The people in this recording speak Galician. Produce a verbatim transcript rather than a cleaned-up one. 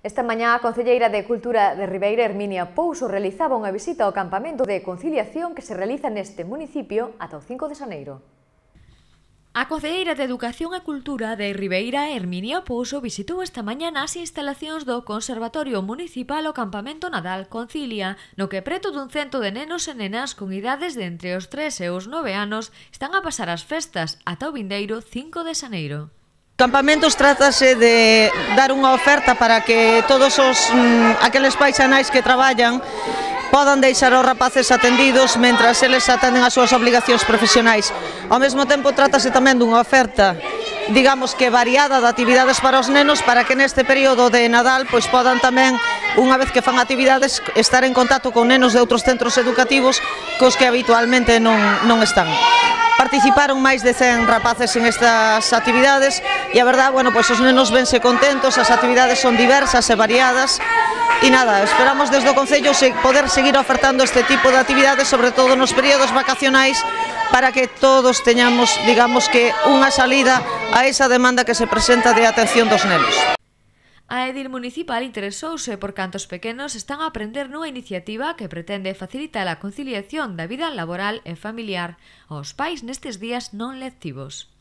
Esta mañá a concelleira de Cultura de Ribeira, Herminia Pouso, realizaba unha visita ao campamento de conciliación que se realiza neste municipio ata o cinco de xaneiro. A concelleira de Educación e Cultura de Ribeira, Herminia Pouso, visitou esta mañá as instalacións do Conservatorio Municipal o campamento Nadal Concilia, no que preto dun cento de nenos e nenas con idades de entre os tres e os nove anos están a pasar as festas ata o vindeiro cinco de xaneiro. Campamentos trátase de dar unha oferta para que todos os mm, aqueles paixanais que traballan podan deixar os rapaces atendidos mentras eles atenden as súas obligacións profesionais. Ao mesmo tempo trátase tamén dunha oferta, digamos que variada de actividades para os nenos, para que neste período de Nadal pois podan tamén, unha vez que fan actividades, estar en contacto con nenos de outros centros educativos cos que habitualmente non, non están. Participaron máis de cen rapaces en estas actividades e a verdad, bueno, pois os nenos vense contentos, as actividades son diversas e variadas e nada, esperamos desde o Concello poder seguir ofertando este tipo de actividades, sobre todo nos períodos vacacionais, para que todos teñamos, digamos que, unha salida a esa demanda que se presenta de atención dos nenos. A edil municipal interesouse por cantos pequenos están a aprender nunha iniciativa que pretende facilitar a conciliación da vida laboral e familiar aos pais nestes días non lectivos.